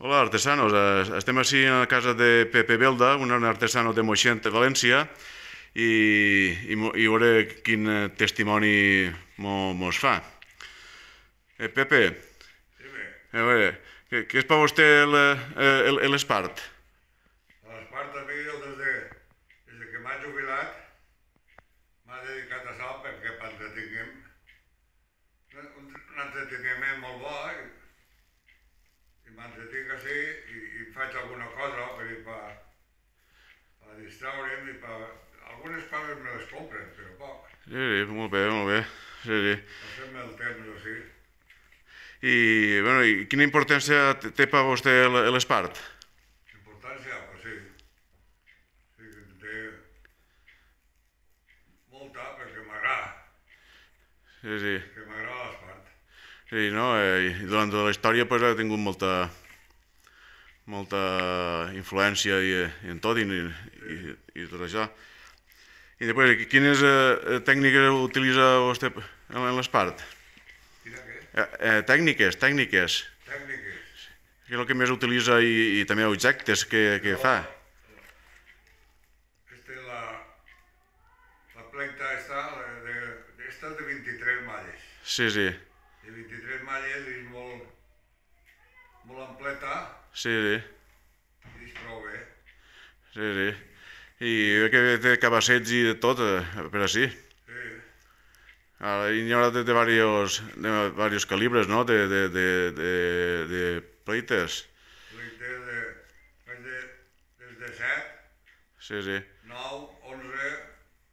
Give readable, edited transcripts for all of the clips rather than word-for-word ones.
Hola, artesanos. Estem així a la casa de Pepe Belda, un artesano de Moixent, de València, i veure quin testimoni mos fa. Pepe, Dime, a veure, què és per vostè l'espart? a l'Espart també jo des que m'ha jubilat m'ha dedicat a això perquè entretinguem un entreteniment molt bo i m'entretinc així i faig alguna cosa per distraure'm algunes coses me les compren, però poc. Sí, molt bé, molt bé. Sí. Passem el temps així. I quina importància té per vostè l'espart? Importància, pues sí. Sí, té molta perquè m'agrada. Sí. Que m'agrada l'Espart. Sí, no? I durant la història pues, ha tingut molta influència en tot i tot això. I després, quines tècniques utilitza vostè en l'espart? Quina què? Tècniques. Tècniques. Què és el que més utilitza i també objectes que fa? La planta esta és de 23 malles. Sí. De 23 malles és molt ampleta Sí. i és prou bé. Sí. I ve que té cabassets i de tot, per així. Sí. Hi haurà de varios calibres, no? De pleites. Faig des de 7, Sí. 9, 11,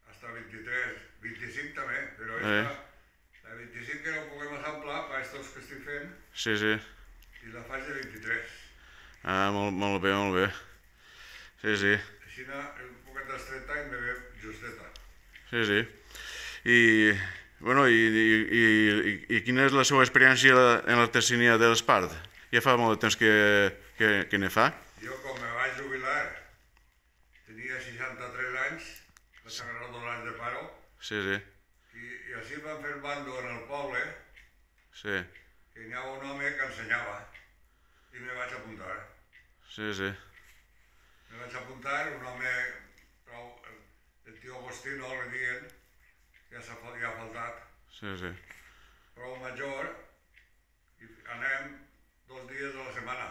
fins 23, 25 també, però la 25 que no puguem assemblar per aquests que estic fent Sí. i la faig de 23. Molt bé. Sí. Així és un poquet estreta i me ve justeta. Sí. I quina és la seva experiència en l'artesania de l'espart? Ja fa molt de temps que ne fa? Jo, com me vaig jubilar, tenia 63 anys, vaig agarrar 2 anys de paro, Sí. i així em van fer bando en el poble, Sí. que hi havia un home que ensenyava, i me vaig apuntar. Sí. Me vaig apuntar, un home, el tio Agostino, li diuen, ja ha faltat, Sí. prou major, i anem 2 dies a la setmana,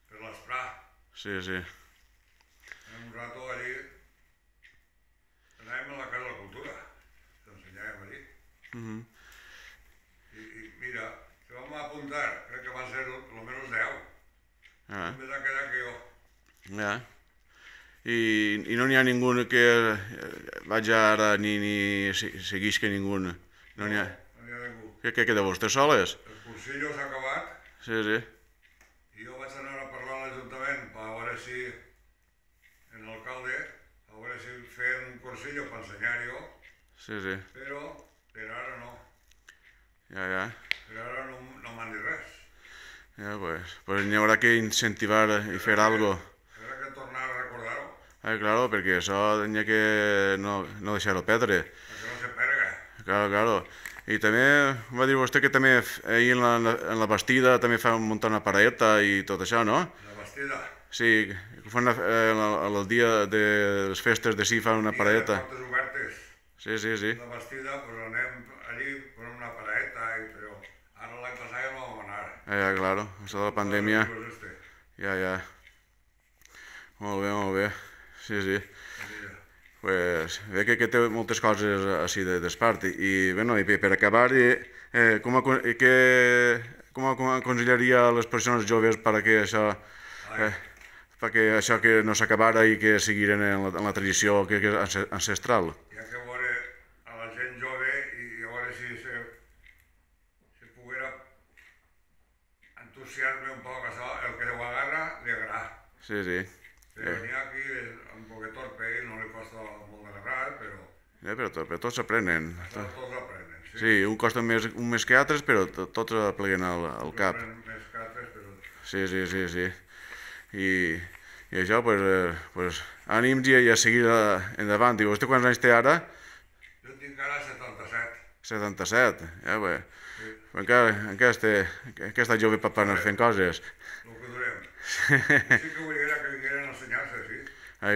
per l'esprà. Sí. Anem un rato allí, anàvem a la Casa de la Cultura, t'ensenyàvem allí. I mira, que vam apuntar, crec que van ser almenys 10. Em va quedar que jo. I no n'hi ha ningú que vagi ara ni seguisca ningú. No n'hi ha. No n'hi ha ningú. Què queda vostè soles? El cursillo s'ha acabat Sí. i jo vaig anar a parlar a l'Ajuntament per veure si, en l'alcalde, a veure si feien un cursillo per ensenyar-ho, Sí. però per ara no. Ja. Per ara no m'han dit res. Ja, pues n'hi haurà que incentivar i fer algo. Haurà que tornar a recordar-ho, Claro, perquè això n'hi ha que no deixar-ho perdre. perquè no se perga. Claro. I també va dir vostè que també ahir en la Bastida també fa muntar una paradeta i tot això, no? La Bastida. Sí, el dia de les festes de sí fan una paradeta. Dia de portes obertes. Sí. La Bastida, pues anem allí per una paradeta, però ara l'any passat ja no vam anar. Claro, això de la pandèmia. Ja. Molt bé. Sí. Pues ve que té moltes coses així d'espart. I per acabar, com aconsellaria a les persones joves perquè això que no s'acabara i que seguiren en la tradició que és ancestral? Hi ha que veure a la gent jove i a veure si se poguera entusiasme un poc això, el que ho agarra, li agrada. Sí. Però n'hi ha aquí un poquet torpe i no li costa molt d'agarrar, Però tots s'aprenen. tots aprenen. Sí, un costa més que altres, però tots apleguen al cap. Més que altres, però... Sí. I això, pues, ànims i a seguir endavant. I vostè quants anys té ara? Jo tinc ara 77. 77, ja, bé. Sí. encara està jove per anar fent coses. El que durem. Sí que volia que vingueren a ensenyar-se, sí.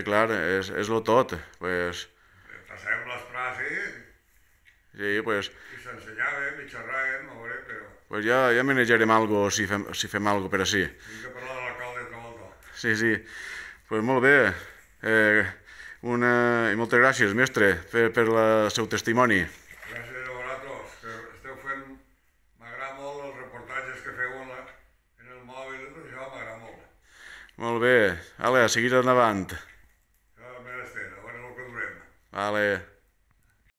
Clar, és lo tot. Pues, Passàvem les frases sí, pues, i s'ensenyàvem i xerràvem, a veure, però... pues ja manejarem algo si fem algo per així. Tinc que parlar de l'alcalde altra volta. Sí. Pues molt bé. I moltes gràcies, mestre, per el seu testimoni. Gràcies a vosaltres, que esteu fent... M'agrada molt els reportatges que feu en el mòbil, això m'agrada molt. Molt bé. A seguir endavant. Això és menester, a veure el que durem. Vale.